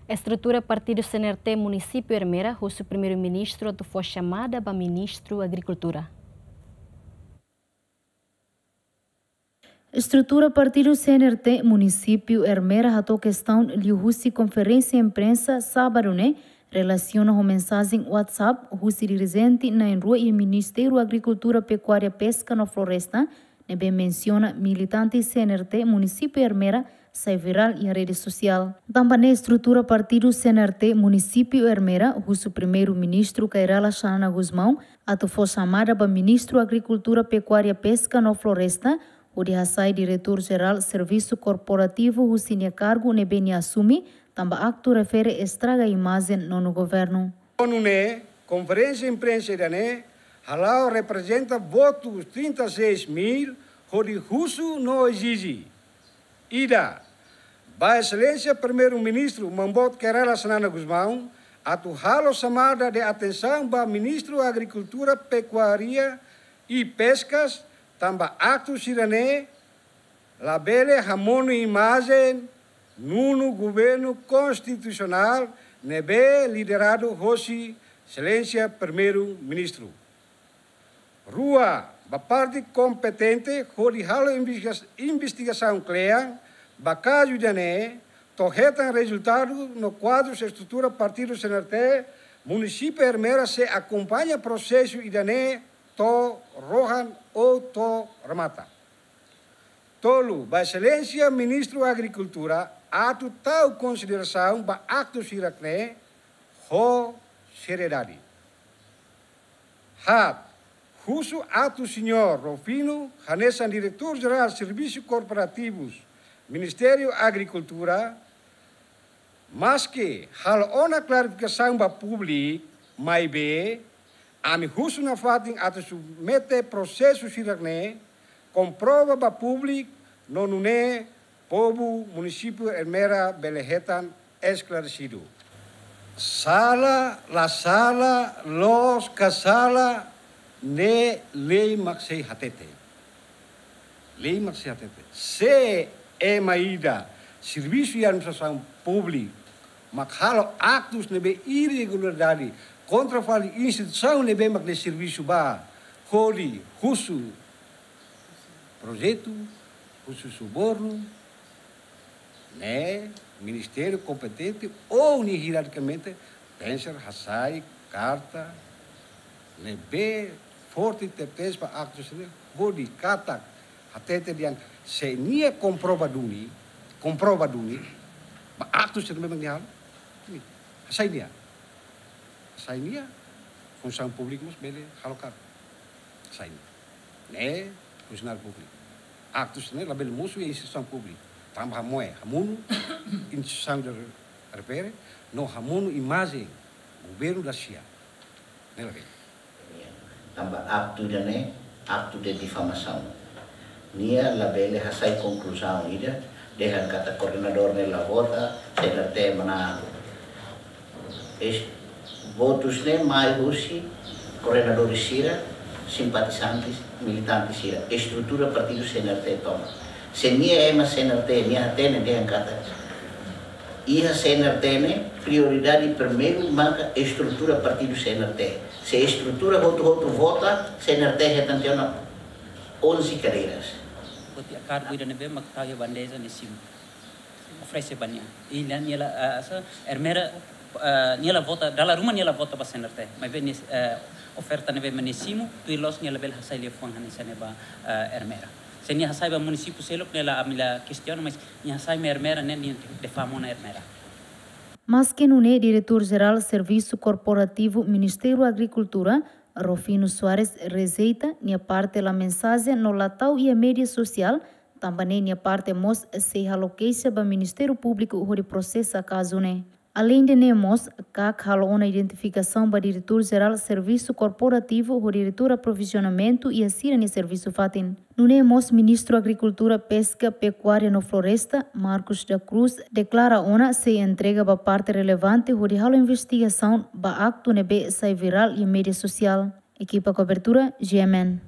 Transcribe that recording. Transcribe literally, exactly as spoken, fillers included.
Estrutura partidu C N R T munisípiu Ermera husu Primeiru-Ministru atu fó xamada ba Ministru Agrikultura. Estrutura partidu C N R T munisípiu Ermera hato'o kestaun liuhusi konferénsia imprensa sábadu ne'e, relasiona ho mensajen WhatsApp husi dirijente na'in-rua iha Ministériu Agrikultura, Pekuária, Peska no Floresta, ne'ebé mensiona militante C N R T munisípiu Ermera sai virál iha rede sosiál. Tanba ne'e estrutura partidu C N R T munisípiu Ermera husu Primeiru-Ministru Kay Rala Xanana Gusmão atu fó xamada ba Ministru Agrikultura, Pekuária, Peska no Floresta, hodi hasai Diretór Jerál Servisu Korporativu husi nia kargu ne'ebé nia asume, tanba aktu refere estraga imajen nonu governu. Nune'e, konferénsia imprensa ida-ne'e hala'o reprezenta votus trinta e seis mil hodi husu no ezije: ida, ba Exelénsia Primeiru-Ministru Maun Boot Kay Rala Xanana Gusmão atu halo xamada de atensaun ba Ministru Agrikultura, Pekuária e Peskas, tanba aktu sira-ne'e labele hamonu imajen nonu governu konstitusionál ne'ebé lideradu hosi Exelénsia Primeiru-Ministru. Rua, ba parte kompetente hodi halo investiga-, investigasaun kle'an ba kazu ida-ne'e, to'o hetan rezultadu no kuadru estrutura partidu C N R T munisípiu Ermera sei akompaña prosesu ida-ne'e to'o rohan ou to'o remata. Tolu, ba Exelénsia Ministru Agrikultura atu tau konsiderasaun ba aktu sira-ne'e ho seriedade. Haat, husu atu Señór Rufino, hanesan Diretór Jerál Servisu Korporativus Ministériu Agrikultura, maske halo ona klarifikasaun ba públiku, maibé ami husu nafatin atu submete prosesu sira-ne'e, komprova ba públiku, no nune'e povu munisípiu Ermera bele hetan esklaresidu. Sala, la sala, loos ka sala, ne'e lei mak sei hatete. Lei mak sei hatete. Se ema ida servisu iha administrasaun públika mak halo aktus ne'ebé irregularidade kontra fali instituisaun ne'ebé mak nia servisu ba, hodi husu projetu, husu subornu, ne'e ministériu kompetente ou nia hierarkikamente tenke hasai karta ne'ebé forte tebes ba aktus ne'e, hodi katak hatete dehan se nia komprova duni, komprova duni ba aktus ne'ebé mak nia halo, hasai nia. Hasai nia, funsaun públika mós bele halo karta. Hasai nia. Ne'e funsionáriu públiku. Aktus ne'e labele mosu iha instituisaun públika. Tanba hamoe, hamonu instituisaun ida refere, no hamonu imajen governu da sia. Ne'e labele. Tanba aktu ida-ne'e, aktu de difamasaun. Nia labele hasai konkluzaun ida, dehan katak koordenadór ne'e la vota, C N R T manán. Es, votus ne'e mai husi koordenadór sira, simpatizante, militante sira, estrutura partidu C N R T tomak. Se nia ema C N R T, nia hatene dehan katak iha C N R T ne'e, prioridade primeiru maka estrutura partidu C N R T. Se estrutura hotu-hotu vota, C N R T hetan tiha ona onze cadeiras. Foti kargu ida ne'ebé mak tau iha bandeja nia simu. Oferese ba nia. I nia, nia la, ah, sa, Ermera, ah, nia la vota, dala ruma nia la vota ba C N R T. Maibé nia, eh, oferta ne'ebé mak nia simu, tuir loos nia labele hasai liafuan hanesan ne'e ba, eh, Ermera. Se nia hasai ba munisípiu seluk ne'e la, ami la kestiona, mas nia hasai mai Ermera ne'e nia difama ona Ermera. Maske nune'e, Diretór Jerál Servisu Korporativu Ministériu Agrikultura, Rufino Soares, rejeita nia parte la mensajen no la tau iha média sosiál, tanba ne'e nia parte mós sei halo keixa ba Ministériu Públiku hodi prosesa kazu ne'e. Aleinde ne'e mós, CAC halo ona identifikasaun ba Diretór Jerál Servisu Korporativu ho Diretór Aprovizionamentu iha sira-nia servisu fatin. Nune'e mós Ministru Agrikultura, Peska, Pekuária no Floresta, Marcos da Cruz, deklara ona sei entrega ba parte relevante hodi halo investigasaun ba aktu ne'ebé sai virál iha média sosiál. Ekipa kobertura, G M N.